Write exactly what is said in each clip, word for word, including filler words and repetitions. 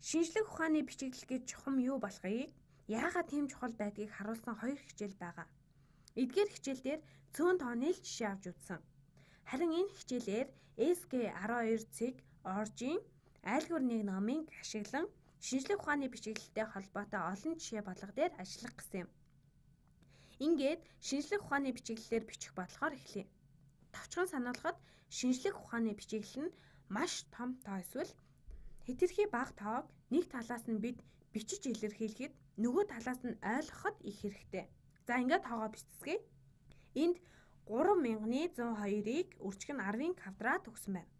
Шинжлэх ухааны бичиглэл гэж чухам юу болохыг, яагаад тийм чухал байдгийг харуулсан хоёр хичээл байгаа. Эдгээр хичээлдээр цөөн тооны л жишээ авч үзсэн. Харин энэ хичээлээр эс гэ арван хоёр цэг Оржийн айлгуур нэг номыг ашиглан шинжлэх ухааны бичиглэлтэй холбоотой олон жишээ болгох дээр ажиллах гэсэн юм. Ингээд шинжлэх ухааны бичиглэлээр бичих бодлохоор эхлэе. Товчхон сануулхад шинжлэх ухааны бичиглэл нь маш том тоо эсвэл хэтэрхий бага тоог нэг талаас нь бид бичиж илэрхийлэхэд нөгөө талаас нь ойлгоход их хэрэгтэй. За ингээд тоогоо бичцгээе. Энд гурван мянган зуун хоёрыг өрчгөн арвын квадрат өгсөн байна.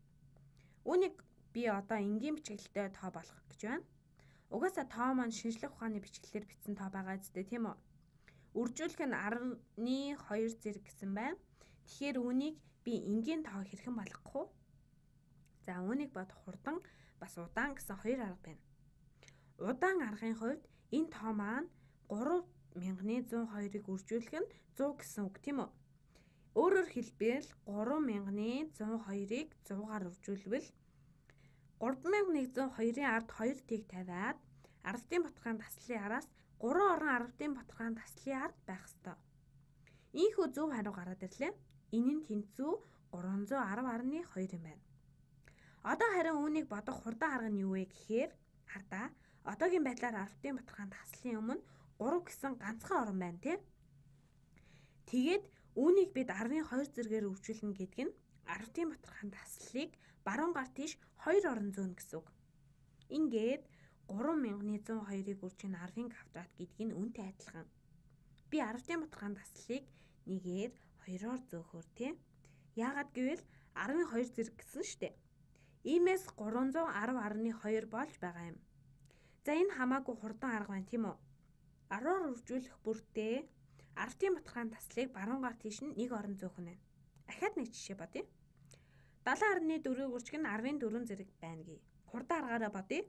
Үүнийг би одоо энгийн бичиглэлтэй тоо болгох гэж байна. Угаасаа тоо маань шинжлэх ухааны бичиглэлээр бичсэн тоо байгаа зү тийм үү? Үржүүлэх нь арваны хоёр зэрэг гэсэн байна. Тэгэхээр үүнийг би энгийн тоо хэрхэн болгох вэ? За үүнийг бод хурдан бас удаан гэсэн хоёр арга байна. Удаан аргын хувьд энэ тоо маань гурван мянган зуун хоёрыг үржүүлэх нь сто гэсэн үг тийм үү? Өөрөөр хэлбэл гурван мянган зуун хоёрыг сто-гаар үржүүлвэл гурван мянган зуун хоёрын ард хоёр тэг тавиад ардын баталгаан таслалын араас гурван орон ардын баталгаан таслалын ард байх ёстой. Ийхүү зөв хариу гараад ирлээ. Энэ нь тэнцүү гурван зуун арав арван хоёр юм байна. Одоо харин үүнийг бодох хурдан арга нь юу вэ гэхээр хардаа одоогийн байдлаар ардын баталгаан таслалын өмнө гурав гэсэн ганцхан орон байна тий. Тэгээд үүнийг бид арвын хоёр зэргээр үржүүлнэ гэдэг нь ардын баталгаан таслалыг баруун гар тийш хоёр орон зөөнө гэсэн үг. Ингээд гурван мянган зуун хоёрыг үржих нь арвын квадрат гэдэг нь үүнтэй адилхан. Би ардын баталгаан таслалыг нэгээр хоёроор зөөхөр тий. Яагаад гэвэл арвын хоёр зэрэг гэсэн штэ. Иймээс гурван зуун арав арван хоёр болж байгаа юм. За энэ хамаагүй хурдан арга байна тийм үү? арваар үржүүлэх бүртээ ардын баталгаан таслалыг баруун гар тийш нь нэг орон зөөх нь байна. Ахаад нэг жишээ бодъё. далайн арваны дөрвийг үржих нь арвын дөрвөн зэрэг байна гээ. Хурдан аргаараа бодъё.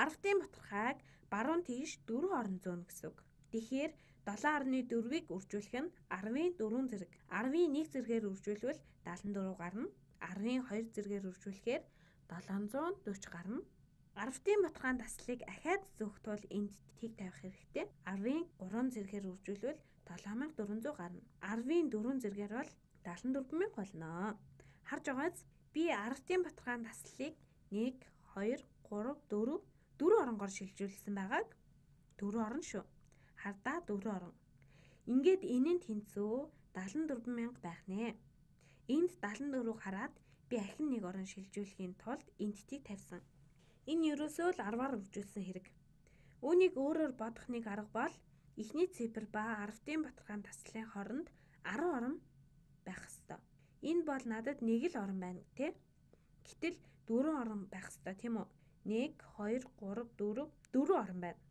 Ардын баталгааг баруун тийш дөрвөн орон зөөнө гэсэн үг. Тэгэхээр долоон арваны дөрвийг үржүүлэх нь арвын дөрвөн зэрэг. арвын нэг зэргээр үржүүлвэл даалан дөрөв гарна. арвын хоёр зэргээр үржүүлэхээр долоон зуун дөрвөн гарна. Ардын баталгаан таслалыг ахаад зөөх тул энд тэг тавих хэрэгтэй. арвын гурван зэргээр үржүүлвэл долоон мянга дөрвөн зуун гарна. арвын дөрвөн зэргээр бол даалан дөрвөн мянга болно. Харж байгааз би ардын баталгаан таслалыг нэг, хоёр, гурав, дөрөв, дөрвөн оронгоор шилжүүлсэн байгааг дөрвөн орон шүү. Хардаа дөрвөн орон. Ингээд энэ нь тэнцүү даалан дөрвөн мянга байх нэ. Энд даалан дөрвийг хараад би ахин нэг орон шилжүүлэхийн тулд энд тэг тавьсан. Энэ ерөөсөө л арваар үржүүлсэн хэрэг. Үүнийг өөрөөр бодох нэг арга бол эхний цифр ба ардын баталгаан таслалын хооронд арван орон байх ёстой. Энэ бол надад нэг л орон байна тий. Гэтэл дөрвөн орон байх ёстой тийм үү? нэг, хоёр, гурав, дөрөв, дөрвөн орон байна.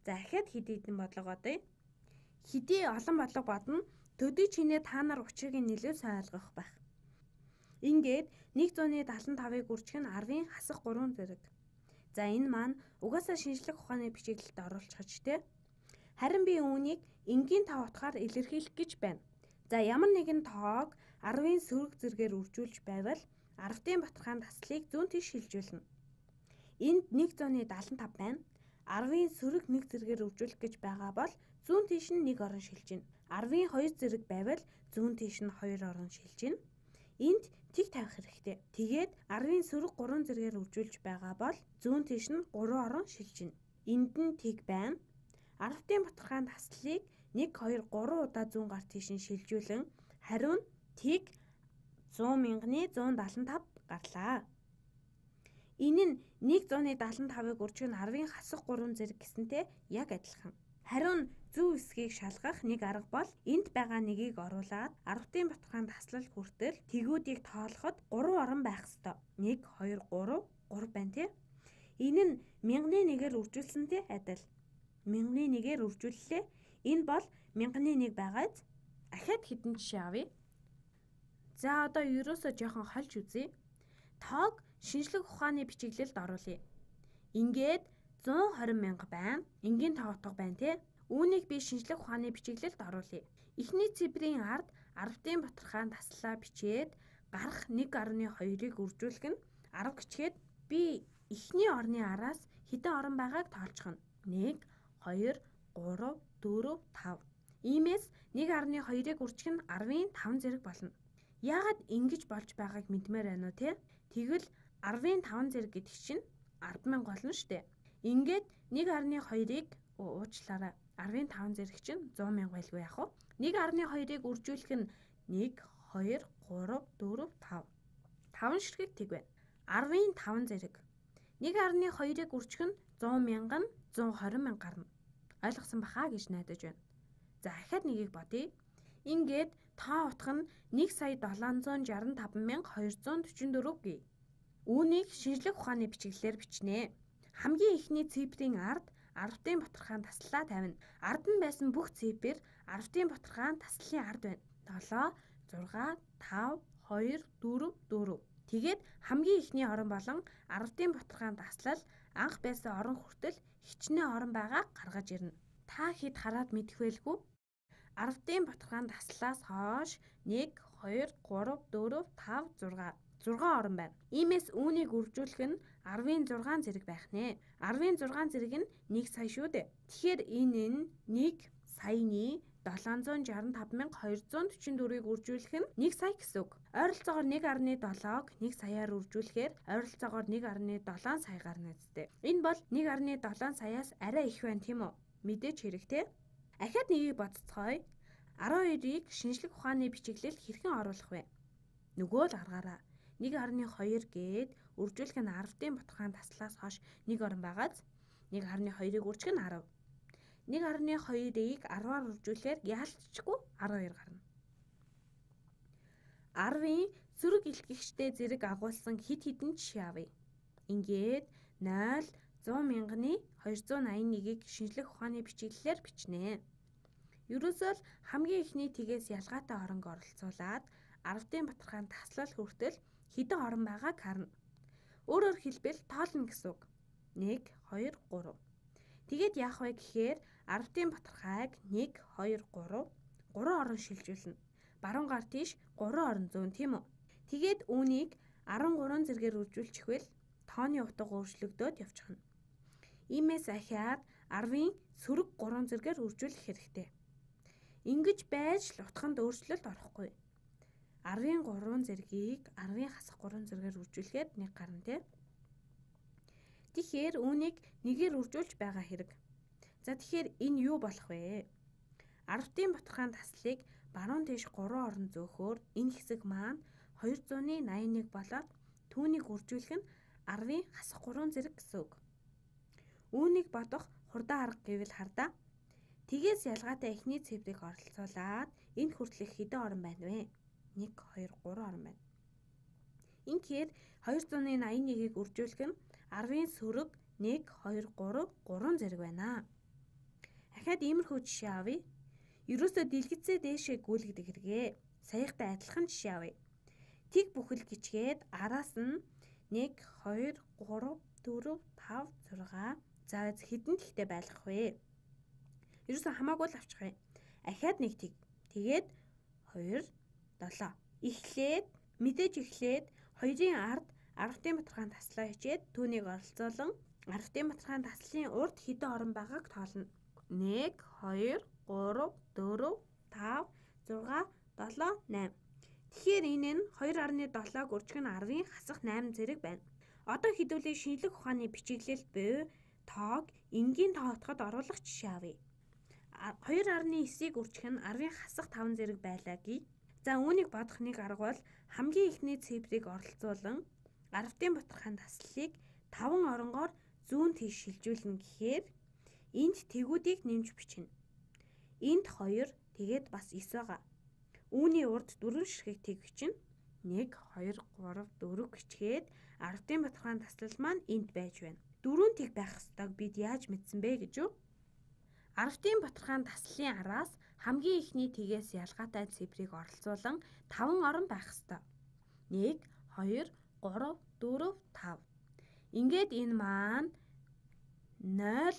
За ахаад хэдий хэдэн бодлого бодъё. Хэдий олон бодлого бодно. Төдий чинээ та нар учрыг нэлээд сайн ойлгох байх. Ингээд нэг зуун даалан тавыг үржих нь арвын хасах гурван зэрэг. За энэ маань угаасаа шинжлэх ухааны бичиглэлд оруулчихж тий. Харин би үүнийг энгийн тоо утгаар илэрхийлэх гэж байна. За ямар нэгэн тоог арвын сөрөг зэргээр үржүүлж байвал ардын баталгаан таслалыг зүүн тийш шилжүүлнэ. Энд нэг зуун даалан тав байна. арвын сөрөг нэг зэргээр үржүүлэх гэж байгаа бол зүүн тийш нь нэг орон шилжинэ. арвын хоёр зэрэг байвал зүүн тийш нь хоёр орон шилжинэ. Энд тэг тавих хэрэгтэй. Тэгээд арвын сөрөг гурван зэргээр үржүүлж байгаа бол зүүн тийш нь гурван орон шилжинэ. Энд нь тэг байна. Ардын баталгаан таслалыг нэг, хоёр, гурван удаа зүүн гар тийш нь шилжүүлэн хариу нь тэг зуун мянган зуун даалан тав гарлаа. Энэ нь нэг зуун даалан тавыг үржих нь арвын хасах гурван зэрэг гэсэнтэй яг адилхан. Хариу нь зөв эсгийг шалгах нэг арга бол энд байгаа нэгийг оруулаад ардын баталгаан таслал хүртэл тэгүүдийг тоолоход гурван орон байх ёстой. нэг, хоёр, гурав, гурав байна тий. Энэ нь мянганы нэгээр үржүүлсэнтэй адил. мянганы нэгээр үржүүллээ. Энэ бол мянганы нэг байгааз ахаад хэдэн жишээ авъя. За одоо ерөөсөө жоохон хольж үзье. Тоог шинжлэх ухааны бичиглэлд оруулъя. Ингээд зуун хорин мянга байна. Энгийн тоо утга байна тий. Үүнийг би шинжлэх ухааны бичиглэлд оруулъя. Эхний цифрийн ард ардын баталгаан таслалаа бичээд гарах нэг гаруй хоёрыг үржүүлэх нь арга гिचгээд би эхний орны араас хэдэн орон байгааг тоолчихно. нэг, хоёр, гурав, дөрөв, тав. Иймээс нэг гаруй хоёрыг үржих нь арвын таван зэрэг болно. Яагаад ингэж болж байгааг мэдмээр байна уу те? Тэгвэл арвын таван зэрэг гэдэг чинь ард мянга болно шүү дээ. Ингээд нэг гаруй хоёрыг уучлаарай. арвын таван зэрэг чинь зуун мянга байлгүй яах вэ? нэг гаруй хоёрыг үржүүлэх нь нэг, хоёр, гурав, дөрөв, тав. таван ширхэг тэг байна. арвын таван зэрэг. нэг гаруй хоёрыг үржих нь зуун мянга нь зуун хорин мянга гарна. Ойлгосон бахаа гэж найдаж байна. За ахаад нэгийг бодъё. Ингээд тоо утга нь нэг сая долоон зуун шарсан таван мянга хоёр зуун дөрвөн дөрөв гэе. Үүнийг шинжлэх ухааны бичиглэлээр бичнэ. Хамгийн ихний цифрийн ард арвтын батархаан таслалаа тавина. Ард нь байсан бүх цифр арвтын батархаан таслалын ард байна. долоо, зурга, тав, хоёр, дөрөв, дөрөв. Тэгээд хамгийн ихний орон болон арвтын батархаан таслал анх байсан орон хүртэл хичнээн орон байгаа гаргаж ирнэ. Та хэд хараад мэдэх байлгүй? арвтын батархаан таслалаас хойш нэг, хоёр, гурав, дөрөв, тав, зурга. зургаан орон байна. Иймээс үүнийг үржүүлэх нь арвын зургаан зэрэг байх нэ. арвын зургаан зэрэг нь нэг сая шүү дээ. Тэгэхээр энэ нь нэг саяны долоон зуун шарсан таван мянга хоёр зуун дөрвөн дөрвийг үржүүлэх нь нэг сая гэсэн үг. Ойролцоогоор нэг гаруй долоог нэг саяар үржүүлэхээр ойролцоогоор нэг гаруй долоон сая гарна үстэй. Энэ бол нэг гаруй долоон саяас арай их байна тийм үү? Мэдээж хэрэгтэй. Ахаад нэгийг бодцгоё. арван хоёрыг шинжлэх ухааны бичиглэл хэрхэн оруулах вэ? Нөгөө л аргаараа нэг гаруй хоёр гээд үржүүлэх нь арвтын батархаан таслаас хойш нэг орон байгааз нэг гаруй хоёрыг үржих нь арав. нэг гаруй хоёрыг арваар үржүүлэхээр яалтчгүй арван хоёр гарна. арвын сөрөг илтгэгчтэй зэрэг агуулсан хэд хэдэн жишээ авъя. Ингээд нойл, зуун мянганы хоёр зуун аян нэгийг шинжлэх ухааны бичиглэлээр бичнэ. Ерөөсөө л хамгийн ихний тгээс ялгаатай оронг оролцуулаад арвтын батархаан таслал хүртэл хэдэн орон байгааг харна. Өөрөөр хэлбэл тоолно гэсэн үг. нэг, хоёр, гурав. Тэгээд яах вэ гэхээр арвтын батархайг нэг, хоёр, гурав, гурван орон шилжүүлнэ. Баруун гар тийш гурван орон зүүн тийм үү? Тэгээд үүнийг арван гурван зэргээр үржүүлчихвэл тооны утга өөрчлөгдөөд явчихна. Иймээс ахиад арвын сөрөг гурван зэргээр үржүүлэх хэрэгтэй. Ингэж байж л утганд өөрчлөлт орохгүй. арвын гурван зэргийг арвын хасах гурван зэргээр үржүүлэхэд нэг гарна тий. Тэгэхээр үүнийг нэгээр үржүүлж байгаа хэрэг. За тэгэхээр энэ юу болох вэ? арвтын батархаан таслыг баруун тийш гурван орон зөөхөөр энэ хэсэг маань хоёр зуун найман нэг болоод түүнийг үржүүлэх нь арвын хасах гурван зэрэг гэсэн үг. Үүнийг бодох хурдан арга гэвэл хардаа. Тгээс ялгаатай эхний цифрыг оролцуулаад энэ хүртэлх хэдэн орон байна вэ? нэг, хоёр, гурван орон байна. Инхээр хоёр зуун найман нэгийг үржүүлэх нь арвын сөрөг нэг, хоёр, гурав, гурван зэрэг байна. Ахаад иймэрхүү жишээ авъя. Ерөөсөө дэлгэцээ дээшээ гүйлгдэг хэрэгээ. Саяхтай адилхан жишээ авъя. Тэг бүхэл гिचгээд араас нь нэг, хоёр, гурав, дөрөв, тав, зурга. За хэдэн тэгтэй байлгах вэ? Ерөөсөө хамаагүй л авчих юм. Ахаад нэг тэг. Тэгээд хоёр, долоо. Эхлээд мэдээж эхлээд хоёрын ард арвтын батархаан таслаа хичээд түүнийг оролцуулан арвтын батархаан таслын урд хэдэн орон байгааг тоолно. нэг, хоёр, гурав, дөрөв, тав, зурга, долоо, найман. Тэгэхээр энэ нь хоёр гаруй долоог үржих нь арвын хасах найман зэрэг байна. Одоо хэдүүлээ шинжлэх ухааны бичиглэлд буй тоог энгийн тоо утгад оруулах жишээ авъя. хоёр гаруй нисийг үржих нь арвын хасах таван зэрэг байлаа гээ. За үүнийг бодох нэг арга бол хамгийн ихний цифрыг оролцуулан арвтын батархаан таслалыг таван оронгоор зүүн тийш шилжүүлнэ гэхээр энд тэгүүдийг нэмж бичнэ. Энд хоёр тэгээд бас эс байгаа. Үүний урд дөрвөн ширхэг тэг бичнэ. нэг, хоёр, гурав, дөрөв гिचгээд арвтын батархаан таслал маань энд байж байна. Дөрвөн тэг байх ёстойг бид яаж мэдсэн бэ гэж юу? Арвтын батархаан таслалын араас хамгийн ихний тгээс ялгаатай цифрыг оролцуулан таван орон байх ёстой. нэг, хоёр, гурав, дөрөв, тав. Ингээд энэ маань нойл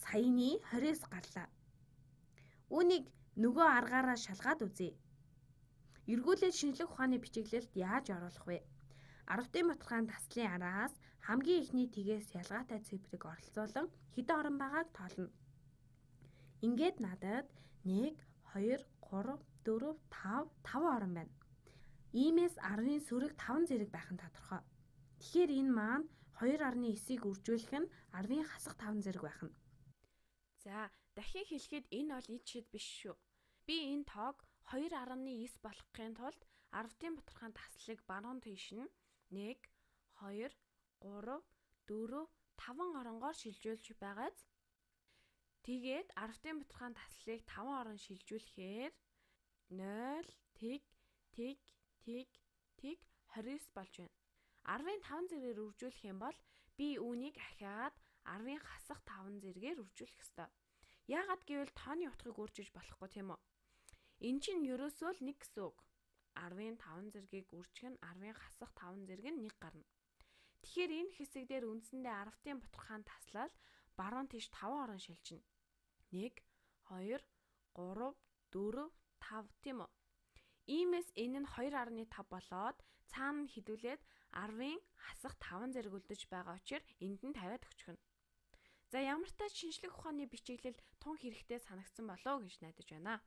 саяны двадцать гарлаа. Үүнийг нөгөө аргаараа шалгаад үзье. Эргүүлээд шинжлэх ухааны бичиглэлд яаж оруулах вэ? Аравтын баталгаан таслын араас хамгийн ихний тгээс ялгаатай цифрыг оролцуулан хэдэн орон байгааг тоолно. Ингээд надад нэг, хоёр, гурав, дөрөв, тав, таван орон байна. Иймээс арвын сөрөг таван зэрэг байх нь тодорхой. Тэгэхээр энэ маань хоёр арван нисийг үржүүлэх нь арвын хасах таван зэрэг байх нь. За, дахин хэлэхэд энэ бол эд шид биш шүү. Би энэ тоог хоёр арван нис болгохын тулд аравтын баталгаан таслыг баруун тийш нь нэг, хоёр, гурав, дөрөв, таван оронгоор шилжүүлж байгааз. Тэгээд аравтын баталгаан таслыг таван орон шилжүүлэхээр нойл, тэг, тэг, тэг, тэг, двадцать девять болж байна. арвын таван зэргээр үржүүлэх юм бол би үүнийг ахиад арвын хасах таван зэргээр үржүүлэх ёстой. Яагаад гэвэл тооны утгыг өөрчилж болохгүй тийм үү? Энэ чинь ерөөсөө л нэг гэсэн үг. арвын таван зэргийг үржих нь арвын хасах таван зэрэг нь нэг гарна. Тэгэхээр энэ хэсэг дээр үндсэндээ аравтын баталгаан таслал баруун тийш таван орон шилжинэ. нэг, хоёр, гурав, дөрөв, тав тийм үү? Иймээс энэ нь хоёр арван тав болоод цаана нь хідүүлээд арвын хасах таван зэрэг үлдэж байгаа учраас энд нь тавиад өчгөнө. За ямар ч тач шинжлэх ухааны бичиглэл тун хэрэгтэй санагдсан болов уу гэж найдаж байна.